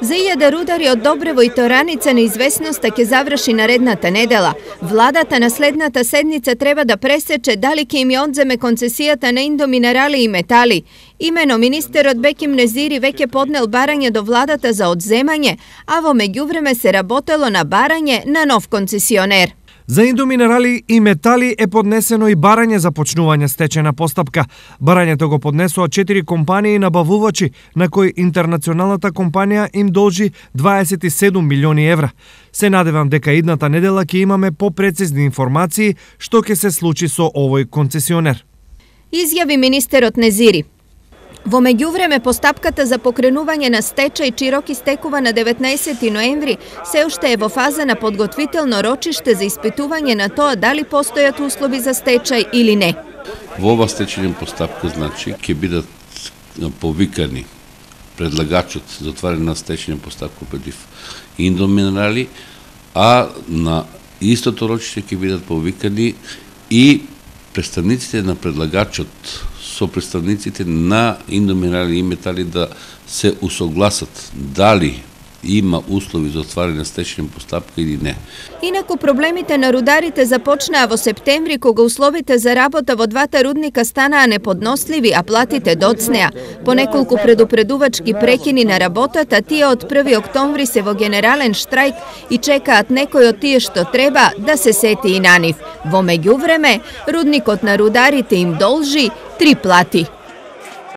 За илјада рудари од Добрево и Тораница неизвестноста ќе заврши наредната недела. Владата на следната седница треба да пресече дали ќе им ја одземе концесијата на Индоминерали и Метали. Имено министерот Беким Незири веќе поднел барање до владата за одземање, а во меѓувреме се работело на барање на нов концесионер. За Индоминерали и Метали е поднесено и барање за почнување стечајна постапка. Барањето го поднесоа 4 компании набавувачи, на кои интернационалната компанија им должи 27 милиони евра. Се надевам дека идната недела ќе имаме попрецизни информации што ќе се случи со овој концесионер. Изјави министерот Незири. Во меѓувреме, постапката за покренување на стечај Чирок истекува на 19 ноември, се уште е во фаза на подготвително рочиште за испитување на тоа дали постојат услови за стечај или не. Во ова стечајна постапка, значи, ќе бидат повикани предлагачот за отварање на стечајна постапка против Индоминерали, а на истото рочиште ќе бидат повикани и представниците на предлагачот со представниците на Индоминерали и Метали да се усогласат дали има услови за отварање на стечајна постапка или не. Инаку проблемите на рударите започнаа во септември, кога условите за работа во двата рудника станаа неподносливи, а платите доцнеа. По неколку предупредувачки прекини на работата, тие од 1 октомври се во генерален штрајк и чекаат некој од тие што треба да се сети и на нив. Во меѓувреме, рудникот на рударите им должи 3 плати.